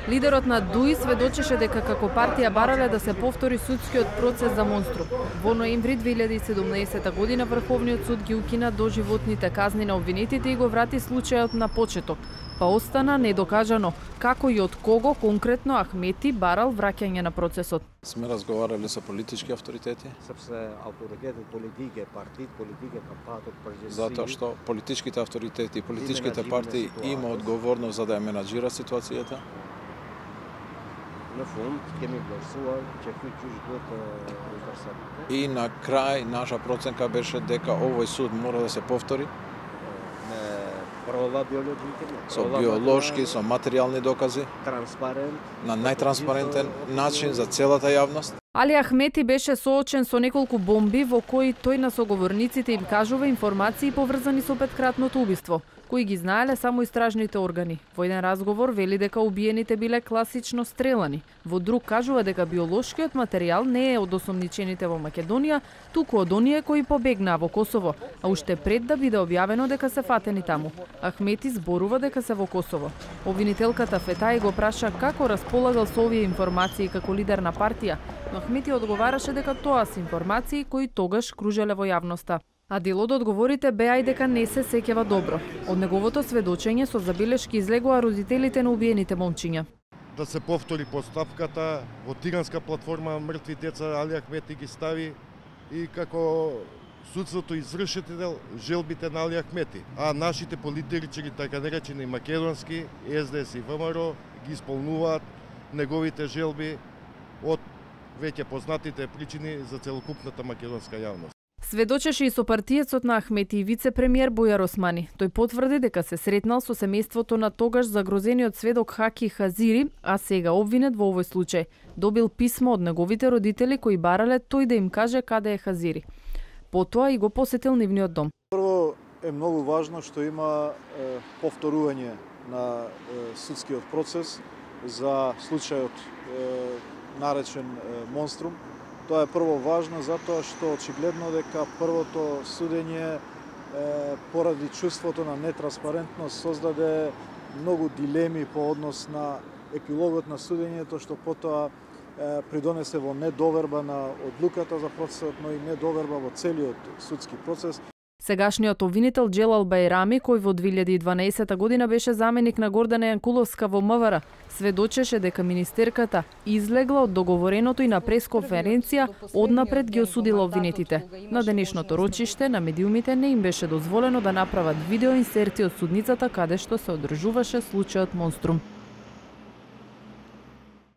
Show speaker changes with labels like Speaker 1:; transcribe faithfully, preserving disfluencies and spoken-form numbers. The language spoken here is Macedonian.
Speaker 1: Лидерот на ДУИ сведочеше дека како партија барале да се повтори судскиот процес за Монструм. Во ноември две илјади и седумнаесета година Врховниот суд ги укина доживотните казни на обвинетите и го врати случајот на почеток, па остана недокажано како и од кого конкретно Ахмети барал враќање на процесот.
Speaker 2: Сме разговарали со политички авторитети. Затоа што политичките авторитети, политичките партии има одговорност за да ја менаџира ситуацијата. И на крај наша проценка беше дека овој суд мора да се повтори со биолошки, со материјални докази, на најтранспарентен начин за целата јавност.
Speaker 1: Али Ахмети беше соочен со неколку бомби во кои тој на соговорниците им кажува информации поврзани со петкратното убиство, кои ги знаеле само истражните органи. Во еден разговор вели дека убиените биле класично стрелани. Во друг кажува дека биолошкиот материјал не е од осомничените во Македонија, туку од оние кои побегнаа во Косово, а уште пред да биде објавено дека се фатени таму. Ахмети зборува дека се во Косово. Обвинителката Фетаи го праша како располагал со овие информации како лидер на партија, но Ахмети одговараше дека тоа се информации кои тогаш кружеле во јавноста. А дел од одговорите беа и дека не се сеќава добро. Од неговото сведочење со забелешки излегоа родителите на убиените момчиња.
Speaker 3: Да се повтори поставката во тиранска платформа мртви деца Али Ахмети ги стави и како судството извршител желбите на Али Ахмети. А нашите политичари, така наречени македонски, Ес Де Ес и ВМРО, ги исполнуваат неговите желби од веќе познатите причини за целокупната македонска јавност.
Speaker 1: Сведочеше и со партиецот на Ахмети и вице-премиер Бујар Османи. Тој потврди дека се сретнал со семејството на тогаш загрозениот сведок Хаки Хазири, а сега обвинет во овој случај. Добил писмо од неговите родители кои барале тој да им каже каде е Хазири. Потоа и го посетил нивниот дом.
Speaker 4: Прво е многу важно што има е, повторување на е, судскиот процес за случајот е, наречен е, Монструм. Тоа е прво важно затоа што очигледно дека првото судење е, поради чувството на нетранспарентност создаде многу дилеми по однос на епилогот на судењето, што потоа е, придонесе во недоверба на одлуката за процесот, но и недоверба во целиот судски процес.
Speaker 1: Сегашниот обвинител Джелал Бајрами, кој во две илјади и дванаесета година беше заменик на Гордана Јанкуловска во МВР, сведочеше дека министерката излегла од договореното и на пресконференција однапред ги осудила обвинетите. На денешното рочиште на медиумите не им беше дозволено да направат видеоинсерти од судницата каде што се одржуваше случајот Монструм.